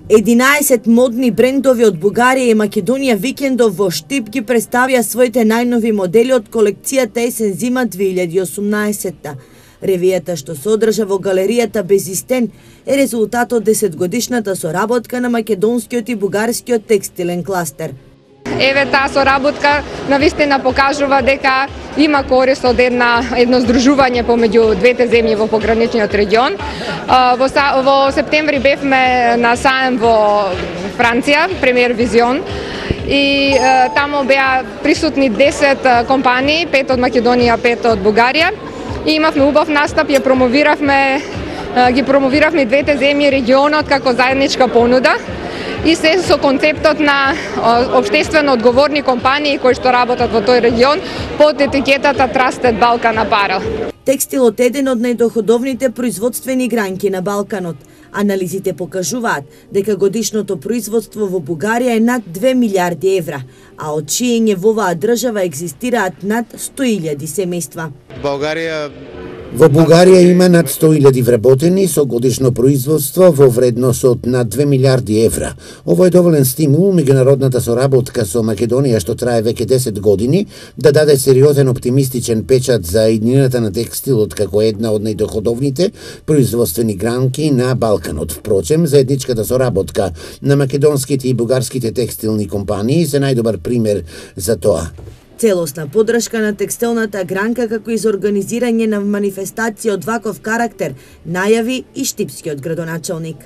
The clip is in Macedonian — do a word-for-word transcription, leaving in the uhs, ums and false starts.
единаесет модни брендови од Бугарија и Македонија викендов во Штип ги представија своите најнови модели од колекцијата есен-зима две илјади и осумнаесетта. Ревијата што се одржа во галеријата Безистен е резултат од десетгодишната соработка на македонскиот и бугарскиот текстилен кластер. Еве таа соработка навистина покажува дека има корист од една едно здружување помеѓу двете земји во пограничниот регион. Во, во септември бевме на саем во Франција, Премиер Визион, и е, тамо беа присутни десет компании, пет од Македонија, пет од Бугарија. И имавме убав настап, ја промовиравме, ги промовиравме двете земји регионот како заедничка понуда. И се со концептот на општествено одговорни компании кои што работат во тој регион под етикетата Trusted Balkan Apparel. Текстилот е еден од најдоходовните производствени гранки на Балканот. Анализите покажуваат дека годишното производство во Бугарија е над две милиарди евра, а од шиење во оваа држава екзистираат над сто илјади семејства. Бугарија Во Бугарија има над сто илјади вработени со годишно производство во вредност од над две милиарди евра. Ово е доволен стимул меѓународната соработка со Македонија што трае веќе десет години да даде сериозен оптимистичен печат за иднината на текстилот како една од најдоходовните производствени гранки на Балканот. Впрочем, заедничката соработка на македонските и бугарските текстилни компании се најдобар пример за тоа. Целосна поддршка на текстилната гранка како и за организирање на манифестација од ваков карактер најави и штипскиот градоначалник.